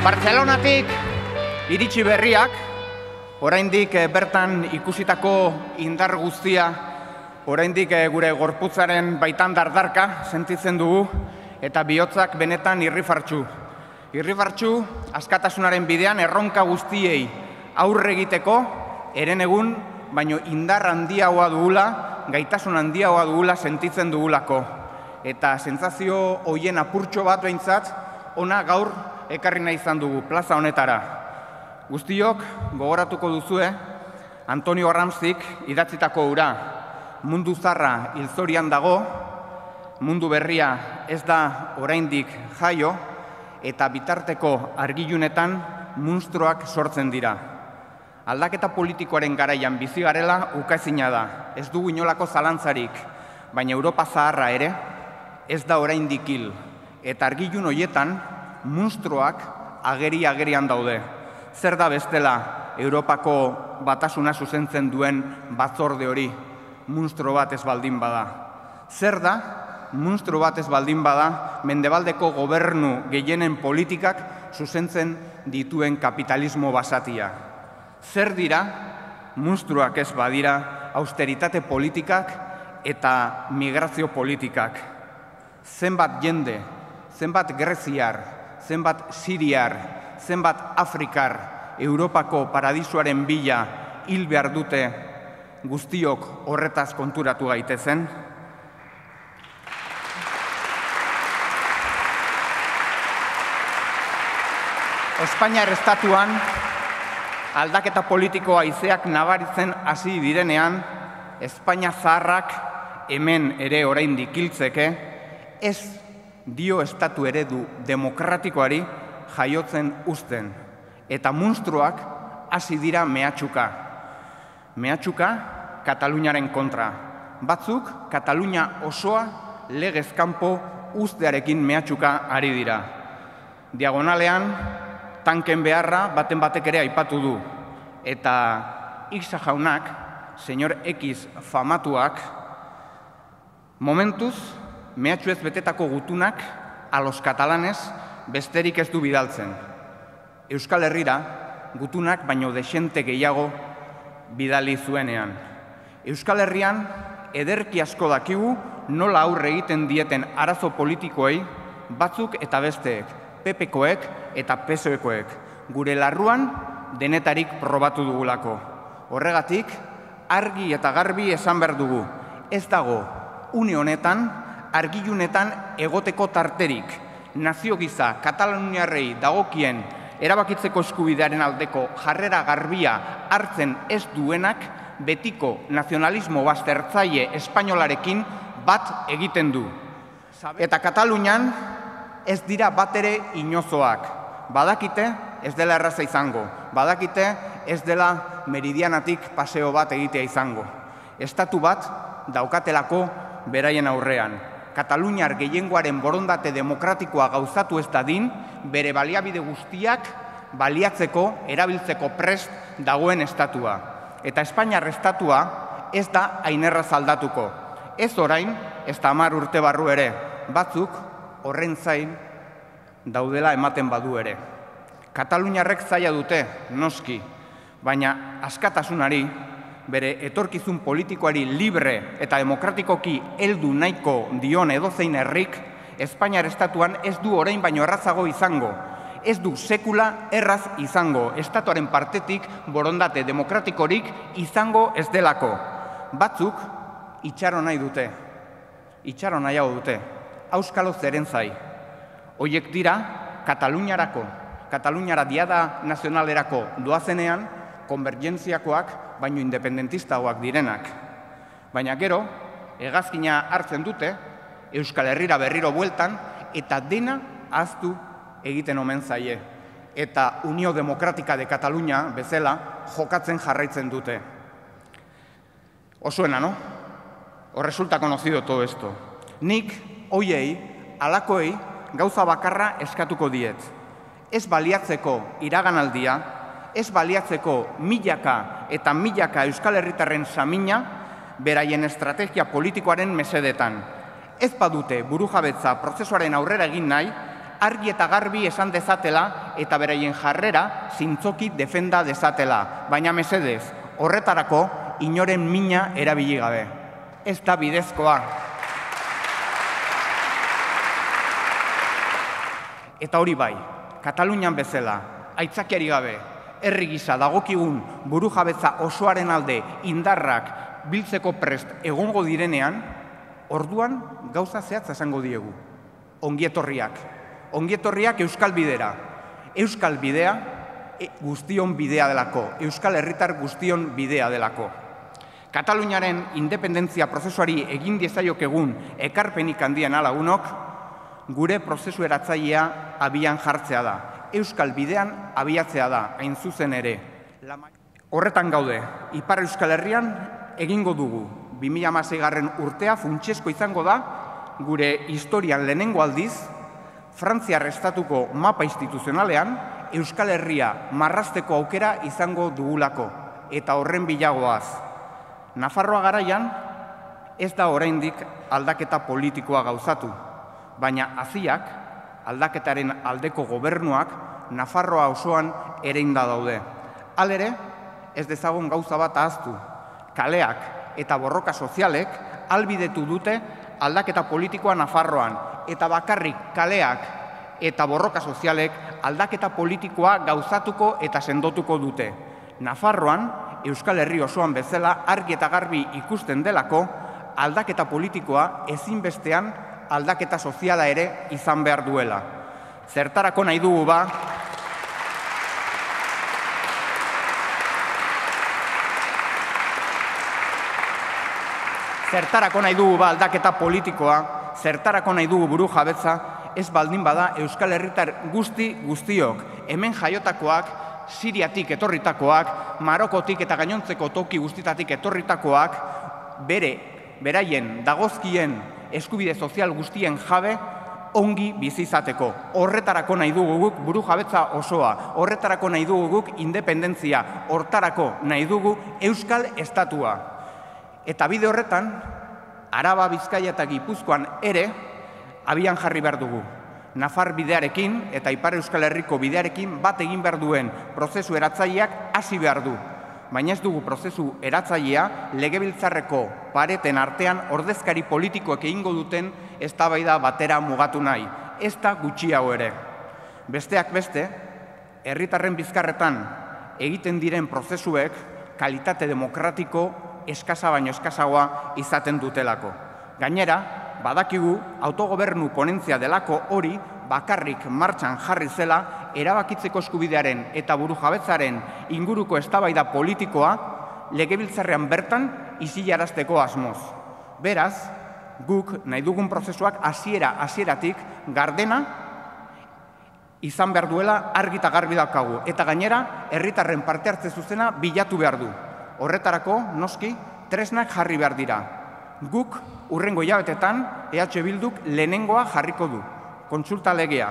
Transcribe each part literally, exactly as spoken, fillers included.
Bartzelonatik iritsi berriak, oraindik bertan ikusitako indar guztia, oraindik gure gorputzaren baitan dardarka sentitzen dugu, eta bihotzak benetan irrifartsu. Irrifartsu askatasunaren bidean erronka guztiei aurre egiteko, eren egun, baino indar handiagoa dugula, gaitasun handiagoa dugula sentitzen dugulako. Eta sentsazio hoien apurtxo bat behintzat, ona gaur ekarri nahi izan dugu plaza honetara. Guztiok gogoratuko duzue Antonio Gramscik idatzitako hura, mundu zarra hilzorian dago, mundu berria ez da oraindik jaio, eta bitarteko argilunetan munstruak sortzen dira. Aldaketa politikoaren garaian bizi garela ukaezina da, ez dugu inolako zalantzarik, baina Europa zaharra ere ez da oraindik hil, eta argilun hoietan munstruak ageri-agerian daude. Zer da bestela Europako batasuna zuzentzen duen batzorde hori, munstro bat ez baldin bada? Zer da munstro bat ez baldin bada mendebaldeko gobernu gehienen politikak zuzentzen dituen kapitalismo basatia? Zer dira munstruak ez badira austeritate politikak eta migrazio politikak? Zenbat jende, zenbat greziar, zenbat siriar, zenbat afrikar, Europako paradisuaren bila hil behar dute guztiok horretaz konturatu gaitezen? Espainiar estatuan aldaketa politiko haizeak nabaritzen hasi direnean, Espainia zaharrak hemen ere oraindik hiltzeke, ez dio estatu eredu demokratikoari jaiotzen uzten. Eta munstruak hasi dira mehatxuka. Mehatxuka Kataluniaren kontra. Batzuk Katalunia osoa legez kanpo uztearekin mehatxuka ari dira. Diagonalean tanken beharra baten batek ere aipatu du. Eta Ixa jaunak, señor X famatuak, momentuz mehatxu ez betetako gutunak a los katalanes besterik ez du bidaltzen. Euskal Herrira gutunak baino dexente gehiago bidali zuenean. Euskal Herrian ederki asko dakigu nola aurre egiten dieten arazo politikoei batzuk eta besteek, P P-koek eta P S O-ekoek, gure larruan denetarik probatu dugulako. Horregatik, argi eta garbi esan behar dugu, ez dago une honetan, argilunetan egoteko tarterik, nazio giza Kataluniarrei dagokien erabakitzeko eskubidearen aldeko jarrera garbia hartzen ez duenak betiko nazionalismo baztertzaile espainolarekin bat egiten du. Eta Katalunian ez dira bat ere inozoak. Badakite ez dela erraza izango, badakite ez dela meridianatik paseo bat egitea izango. Estatu bat daukatelako beraien aurrean. Kataluniar gehiengoaren borondate demokratikoa gauzatu ez dadin, bere baliabide guztiak baliatzeko, erabiltzeko prest dagoen estatua. Eta Espainiar estatua ez da ainerraz aldatuko. Ez orain, ez da hamar urte barru ere, batzuk horren zain daudela ematen badu ere. Kataluniarrek zaila dute, noski, baina askatasunari, bere etorkizun politikoari libre eta demokratikoki heldu nahiko dion edozein herrik, Espainiar estatuan ez du orain baino errazago izango. Ez du sekula erraz izango, estatuaren partetik borondate demokratikorik izango ez delako. Batzuk itxaro nahi dute, itxaro nahiago dute, auskalo zeren zai. Hoiek dira Kataluniarako, Kataluniara diada nazionalerako doazenean, konvergentziakoak baino independentistagoak direnak. Baina gero, hegazkina hartzen dute, Euskal Herrira berriro bueltan, eta dena ahaztu egiten omen zaie. Eta Unio Demokratika de Katalunia bezala jokatzen jarraitzen dute. Osuena, no? O resulta conocido todo esto. Nik, hoiei, alakoei, gauza bakarra eskatuko diet. Ez baliatzeko iraganaldia, ez baliatzeko milaka eta milaka Euskal Herritarren samina beraien estrategia politikoaren mesedetan. Ez badute burujabetza prozesuaren aurrera egin nahi, argi eta garbi esan dezatela eta beraien jarrera zintzoki defenda dezatela. Baina mesedez, horretarako inoren mina erabili gabe. Ez da bidezkoa. Eta hori bai, Katalunian bezala, aitzakiari gabe, herri gisa dagokigun burujabetza osoaren alde indarrak biltzeko prest egongo direnean, orduan gauza zehatza esango diegu. Ongietorriak. Ongietorriak Euskal Bidera. Euskal Bidea guztion bidea delako. Euskal Herritar guztion bidea delako. Kataluniaren independentzia prozesuari egin diezaiokegun ekarpenik handian alagunok, gure prozesu eratzailea abian jartzea da. Euskal Bidean abiatzea da, hain zuzen ere. Horretan gaude, Ipar Euskal Herrian egingo dugu. bi mila hamaseigarren urtea funtsezko izango da, gure historian lehenengo aldiz, Frantziar estatuko mapa instituzionalean, Euskal Herria marrazteko aukera izango dugulako, eta horren bilagoaz. Nafarroa garaian, ez da oraindik aldaketa politikoa gauzatu, baina haziak, aldaketaren aldeko gobernuak, Nafarroa osoan ereinda daude. Halere, ez dezagun gauza bat ahaztu. Kaleak eta borroka sozialek albidetu dute aldaketa politikoa Nafarroan, eta bakarrik kaleak eta borroka sozialek aldaketa politikoa gauzatuko eta sendotuko dute. Nafarroan, Euskal Herri osoan bezala argi eta garbi ikusten delako, aldaketa politikoa ezinbestean aldaketa soziala ere izan behar duela. Zertarako nahi dugu ba, Zertarako nahi dugu ba aldaketa politikoa, zertarako nahi dugu buru jabetza, ez baldin bada Euskal Herritar guzti guztiok, hemen jaiotakoak, Siriatik etorritakoak, Marokotik eta gainontzeko toki guztitatik etorritakoak, bere, beraien dagozkien eskubide sozial guztien jabe, ongi bizizateko. Horretarako nahi dugu guk buru jabetza osoa, horretarako nahi dugu guk independentzia, hortarako nahi dugu Euskal Estatua. Eta bide horretan, Araba, Bizkaia eta Gipuzkoan ere abian jarri behar dugu. Nafar bidearekin eta Ipar Euskal Herriko bidearekin bat egin behar duen prozesu eratzaileak hasi behar du. Baina ez dugu prozesu eratzailea legebiltzarreko pareten artean ordezkari politikoek egingo duten eztabaida batera mugatu nahi. Ez da gutxiago ere. Besteak beste, herritarren bizkarretan egiten diren prozesuek kalitate demokratiko eskasa baino eskasagoa izaten dutelako. Gainera, badakigu autogobernu ponentzia delako hori bakarrik martxan jarri zela erabakitzeko eskubidearen eta burujabetzaren inguruko eztabaida politikoa legebiltzarrean bertan isilarazteko asmoz. Beraz, guk nahi dugun prozesuak hasiera hasieratik gardena izan behar duela argi eta garbi daukagu. Eta gainera, herritarren parte hartze zuzena bilatu behar du. Horretarako, noski, tresnak jarri behar dira. Guk, hurrengo hilabetetan, E H Bilduk lehenengoa jarriko du. Kontsulta legea.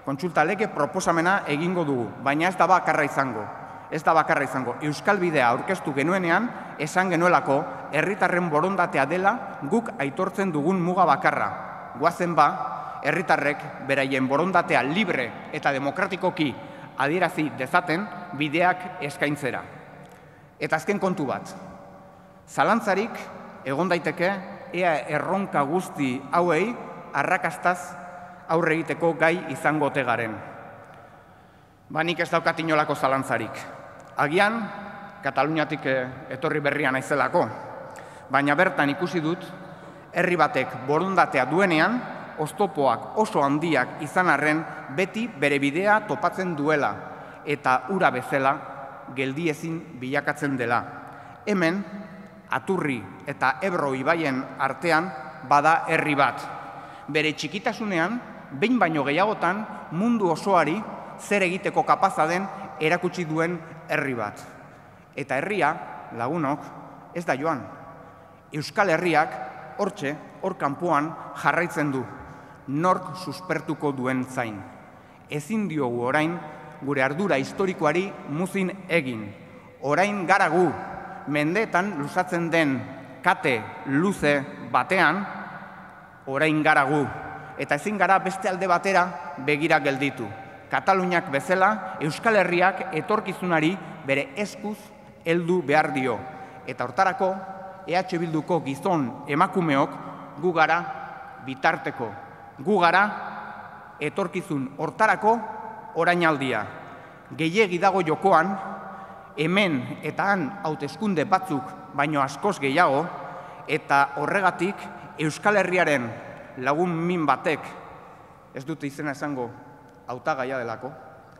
Kontsulta lege proposamena egingo dugu, baina ez da bakarra izango. Ez da bakarra izango. Euskal Bidea aurkeztu genuenean, esan genuelako, herritarren borondatea dela guk aitortzen dugun muga bakarra. Goazen ba, herritarrek beraien borondatea libre eta demokratikoki adierazi dezaten bideak eskaintzera. Eta azken kontu bat, zalantzarik egon daiteke ea erronka guzti hauei arrakastaz aurre egiteko gai izango ote garen. Ba nik ez daukat inolako zalantzarik. Agian, Kataluniatik etorri berria naizelako, baina bertan ikusi dut, herri batek borondatea duenean, oztopoak oso handiak izan arren beti bere bidea topatzen duela, eta ura bezala geldiezin bilakatzen dela. Hemen, Aturri eta Ebro ibaien artean bada herri bat. Bere txikitasunean, behin baino gehiagotan mundu osoari zer egiteko kapaza den erakutsi duen herri bat. Eta herria, lagunok, ez da joan. Euskal Herriak hortxe, hor kanpoan jarraitzen du, nork suspertuko duen zain. Ezin diogu orain gure ardura historikoari muzin egin. Orain gara gu, mendeetan luzatzen den kate luze batean, orain gara gu. eta ezin gara beste alde batera begira gelditu. Kataluniak bezala, Euskal Herriak etorkizunari bere eskuz heldu behar dio. Eta hortarako, E H Bilduko gizon emakumeok gu gara bitarteko. Gu gara etorkizun hortarako orainaldia. Gehiegi dago jokoan, hemen eta han hauteskunde batzuk baino askoz gehiago, eta horregatik Euskal Herriaren lagun min batek, ez dute izena esango hautagaia delako,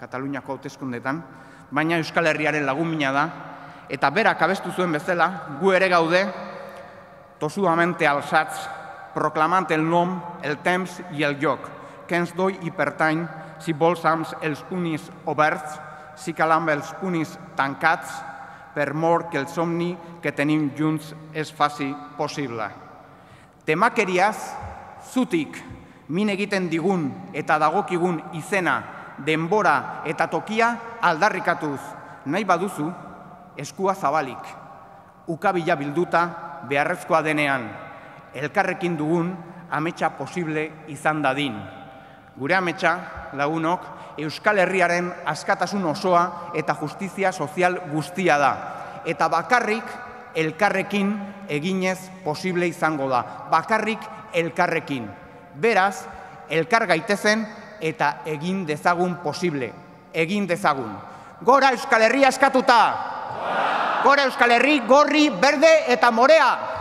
Kataluniako hauteskundetan, baina Euskal Herriaren lagun mina da, eta berak abestu zuen bezala, gu ere gaude, tosudamente alçats, proclamant el nom, el temps i el lloc, que ens doi i pertany, si volsams els punis oberts, si calam els punis tancats, per mort que el somni que tenim junts es faci possible. Temakeriaz, zutik, min egiten digun eta dagokigun izena, denbora eta tokia aldarrikatuz, nahi baduzu, eskua zabalik, ukabila bilduta beharrezkoa denean, elkarrekin dugun ametsa posible izan dadin. Gure ametsa, lagunok, Euskal Herriaren askatasun osoa eta justizia sozial guztia da. Eta bakarrik elkarrekin eginez posible izango da. Bakarrik elkarrekin. Beraz, elkar gaitezen eta egin dezagun posible. Egin dezagun. Gora Euskal Herria askatuta! Gora Euskal Herri, gorri, berde eta morea!